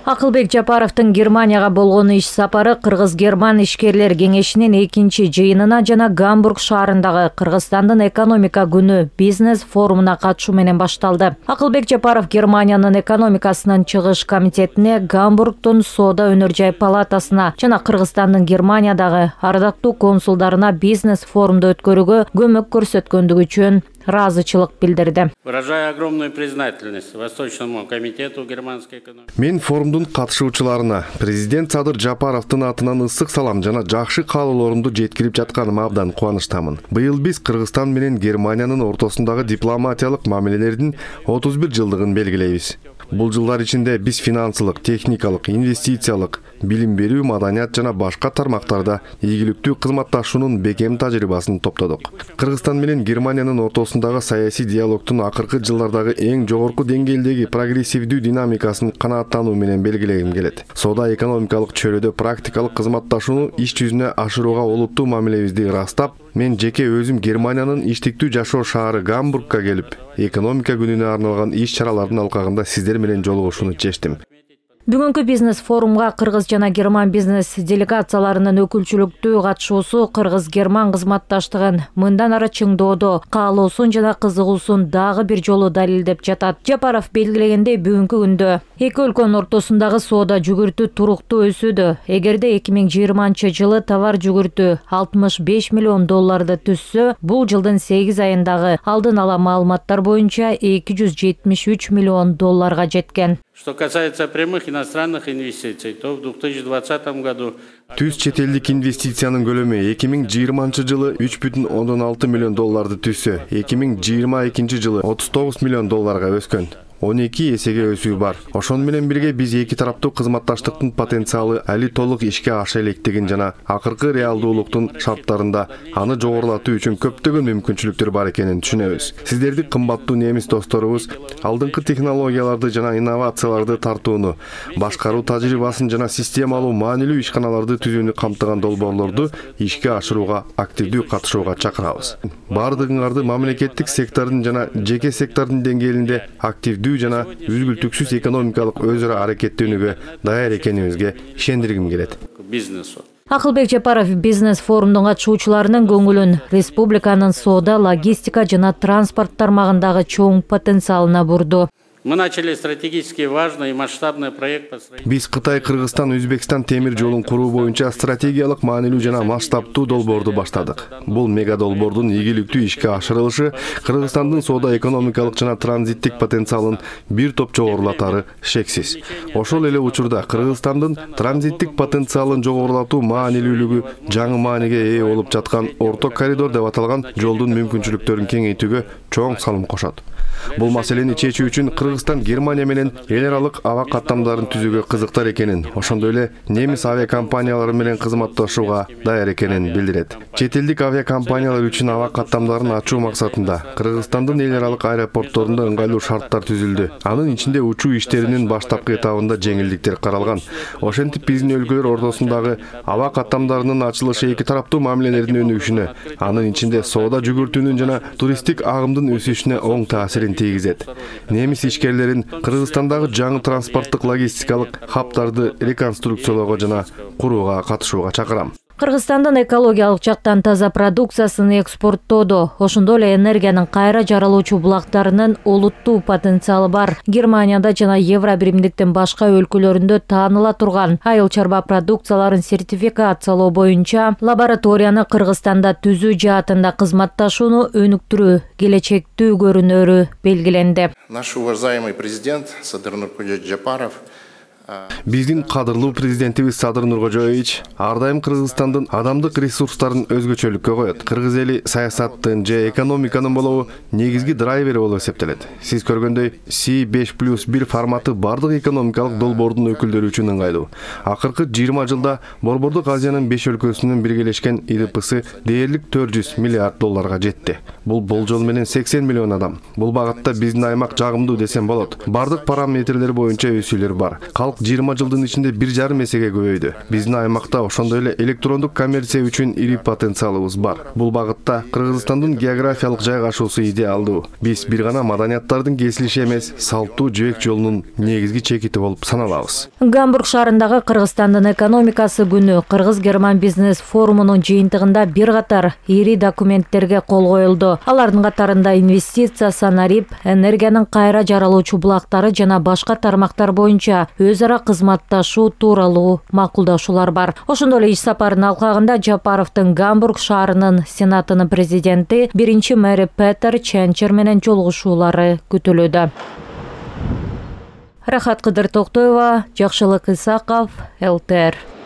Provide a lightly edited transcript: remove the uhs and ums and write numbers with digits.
Акылбек Жапаровдун Германияга болгон иш сапары Кыргыз-Герман ишкерлер кеңешинин экинчи жыйынына жана Гамбург шаарындагы Кыргызстандын экономика күнү бизнес форумуна катышуу менен башталды. Акылбек Жапаров Германиянын экономикасынын чыгыш комитетине, Гамбургдун соода өнөр жай палатасына жана Кыргызстандын Германиядагы ардактуу консулдарына бизнес форумду өткөрүүгө көмөк көрсөткөндүгү үчүн ыраазычылык билдирди. Выражаю огромную признательность Восточному комитету германской экономики. Мен форумдун катышуучуларына президент Садыр Жапаровдун атынан ысык салам жана жакшы каалоолорумду жеткирип жатканыма абдан кубанычтамын. Быйыл биз Кыргызстан менен Германиянын ортосундагы дипломатиялык мамилелердин 31 жылдыгын белгилейбиз. Бул жылдар ичинде биз финансылык, техникалык, инвестициялык, билим берүү, маданият жана башка тармактарда ийгиликтүү кызматташуунун бекем тажрыйбасын топтодук. Кыргызстан менен Германиянын ортосундагы саясий диалогтун акыркы жылдардагы эң жогорку деңгээлдеги прогрессивдүү динамикасын канааттануу менен белгилегим келет. Соода экономикалык чөйрөдө практикалык кызматташууну иш жүзүнө ашырууга олуттуу мамилебизди ырастап, мен жеке өзүм Германиянын иштиктүү жашоо шаары Гамбургка келип, экономика күнүнө арналган иш-чаралардын алкагында сиздер менен жолугушууну чечтим. Бүгүнкү бизнес форумга Кыргыз жана Герман бизнес делегацияларынын өкүлчүлүктүү катышуусу Кыргыз-Герман кызматташтыгын мындан ары чыңдоодо каалоосун жана кызыгуусун дагы бир жолу далилдеп жатат. Жапаров белгилегендей, бүгүнкү күндө эки өлкөнүн ортосундагы соода жүгүртү туруктуу өсүүдө. Эгерде 2020-жылы товар жүгүртү 65 миллион долларды түзсө, бул жылдын 8 айындагы алдын ала маалыматтар боюнча 273 миллион долларга жеткен. Что касается прямых иностранных инвестиций, то в 2020 году Түз чет элдик инвестициянын көлөмү 2020 жылы 3,6 миллион долларды түзсө, 2022 жылы 39 миллион долларга өскөн. 12 эсеге өсүү бар. Ошон менен бирге биз эки тараптуу кызматташтыктын потенциалы али толук ишке аша электигин жана акыркы реалдуулуктун шарттарында аны жогорулатуу үчүн көптөгөн мүмкүнчүлүктөр бар экенин түшүнөбүз. Сиздерди кымбаттуу немис досторубуз алдыңкы технологияларды жана инновацияларды тартууну, башкаруу тажрыйбасын жана системалуу маанилүү ишканаларды түзүүнү камтыган долбоорлорду ишке ашырууга активдүү катышууга чакырабыз. Бардыгыңарды мамлекеттик сектордун жана жеке сектордун деңгээлинде активдүү жана үзгүлтүксүз экономикалык өз ара аракеттенүүгө даяр экенибизге ишендиргим келет. Акылбек Жапаров бизнес форумдун катышуучуларынын көңүлүн республиканын соода, логистика жана транспорт тармагындагы чоң потенциалына бурду. Мы начали стратегически важный и масштабный проект по строительству. Биз Кытай, Кыргызстан, Өзбекстан темир жолун куруу боюнча стратегиялык маанилүү жана масштабтуу долбоорду баштадык. Бул мега долбоордун ийгиликтүү ишке ашырылышы Кыргызстандын соода экономикалык жана транзиттик потенциалын бир топ жогорулатары шексиз. Ошол эле учурда Кыргызстандын транзиттик потенциалын жогорулатуу маанилүүлүгү жаңы мааниге ээ болуп жаткан орто коридор деп аталган жолдун мүмкүнчүлүктөрүн кеңейтүүгө чоң салым кошот. Бул маселени чечүү үчүн Кыргызстан Германия менен эл аралык аба каттамдарын түзүүгө кызыктар экенин, ошондой эле немис авиакомпаниялары менен кызматташууга даяр экенин билдирет. Чет элдик авиакомпаниялар үчүн аба каттамдарын ачуу максатында Кыргызстандын эл аралык аэропортторунда ыңгайлуу шарттар түзүлдү. Анын ичинде учуу иштеринин баштапкы этабында жеңилдиктер каралган. Ошентип биздин өлкөлөр ортосундагы аба каттамдарынын ачылышы эки тараптуу мамилелердин өнүгүшүнө, анын ичинде соода жүгүртүүнүн жана туристтик агымдын өсүшүнө оң таасирин тийгизет. Немис ишкерлерин Кыргызстандагы жаңы транспорттук логистикалык хабтарды реконструкциялоого жана курууга катышууга чакырам. Кыргызстандын экологиялык жактан таза продукциясын экспорттоодо, ошондой эле энергиянын кайра жаралуучу булактарынын олуттуу потенциалы бар. Германияда жана Евро биримдиктин башка өлкөлөрүндө тааныла турган айыл чарба продукцияларын сертификациялоо боюнча лабораторияны Кыргызстанда түзүү жаатында кызматташууну өнүктүрүү келечектүү көрүнөрү белгиленди. Наш уважаемый президент Садыр Нуркожоевич Жапаров Биздин кадырлуу президентибиз Садыр Нуркожоевич ар дайым Кыргызстандын адамдык ресурстарын өзгөчөлүккө коет. Кыргыз эли саясаттын же экономиканын болобу негизги драйвери болуп эсептелет. Сиз көргөндөй C5+1 форматы бардык экономикалык долбоордун өкүлдөрү үчүн ыңгайлуу. Акыркы 20 жылда Борбордук Азиянын 5 өлкөсүнүн биргелешкен ИДПсы дээрлик 400 миллиард долларга жетти. Бул болжол менен 80 миллион адам. Бул багытта биздин аймак жагымдуу десем болот. Бардык параметрлер боюнча өсүүлөр бар. 20 жылдын ичинде 1,5 эсеге көбөйдү. Биздин аймакта ошондой эле электрондук коммерция үчүн ири потенциалыбыз бар. Бул багытта Кыргызстандын географиялык жайгашуусу идеалдуу. Биз бир гана маданияттардын кесилиши эмес, салттуу жибек жолунун негизги чекити болуп саналабыз. Гамбург шаарындагы Кыргызстандын экономикасы күнү Кыргыз-Герман бизнес форумунун жыйынтыгында бир катар ири документтерге кол коюлду. Алардын катарында инвестиция, санарип, энергиянын кайра жаралуучу булактары жана башка тармактар боюнча өз ара кызматташуу тууралуу макулдашуулар бар. Ошондой эле иш сапарынын алкагында Жапаровдун Гамбург шаарынын сенатынын президенти, биринчи мэри Петер Ченчер менен жолугушуулары күтүлүүдө. Рахат Кыдыр Токтоева, Жакшылык Исаков, ЛТР.